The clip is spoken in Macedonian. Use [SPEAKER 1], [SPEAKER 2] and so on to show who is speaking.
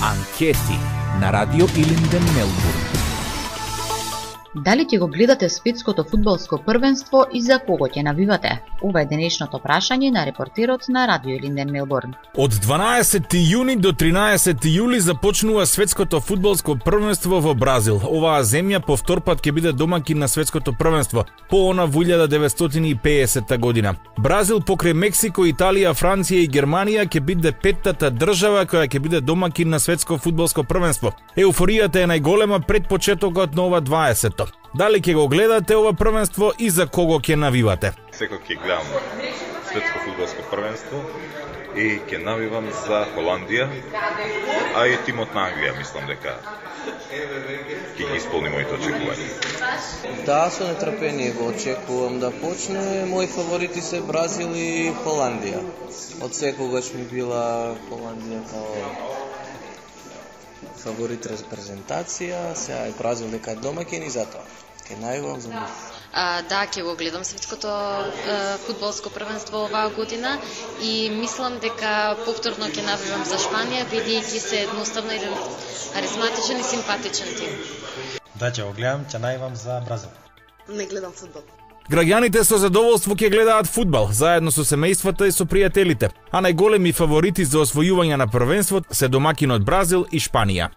[SPEAKER 1] Анкети на Радио Илинден, Мелбурн.
[SPEAKER 2] Дали ќе го гледате светското фудбалско првенство и за кого ќе навивате? Ова е денешното прашање на репортерот на Радио Илинден, Мелбурн.
[SPEAKER 3] Од 12 јуни до 13 јули започнува светското фудбалско првенство во Бразил. Оваа земја по втор пат ќе биде домакин на светското првенство, по она во 1950 година. Бразил покрај Мексико, Италија, Франција и Германија ќе биде петтата држава која ќе биде домакин на светско фудбалско првенство. Еуфоријата е најголема пред почетокот на ова 20-то. Дали ќе го гледате ова првенство и за кого ќе навивате?
[SPEAKER 4] Секој ќе гледам светско фудбалско првенство и ќе навивам за Холандија, а и тимот на Англија, мислам дека ќе ги исполни моите очекувања.
[SPEAKER 5] Да, со нетрпение го очекувам да почне. Мои фаворити се Бразил и Холандија. Од секогаш ми била Холандија као фаворит репрезентација, сега е Бразил дека е домакин и затоа ќе најавам за нив.
[SPEAKER 6] Да, ќе го гледам светското фудбалско првенство оваа година и мислам дека повторно ќе навивам за Шпанија, бидејќи се едноставно еден харизматичен и симпатичен тим.
[SPEAKER 7] Да, ќе го гледам, ќе најавам за Бразил.
[SPEAKER 8] Не гледам фудбал.
[SPEAKER 3] Граѓаните со задоволство ќе гледаат фудбал, заедно со семејствата и со пријателите, а најголеми фаворити за освојување на првенството се домакинот Бразил и Шпанија.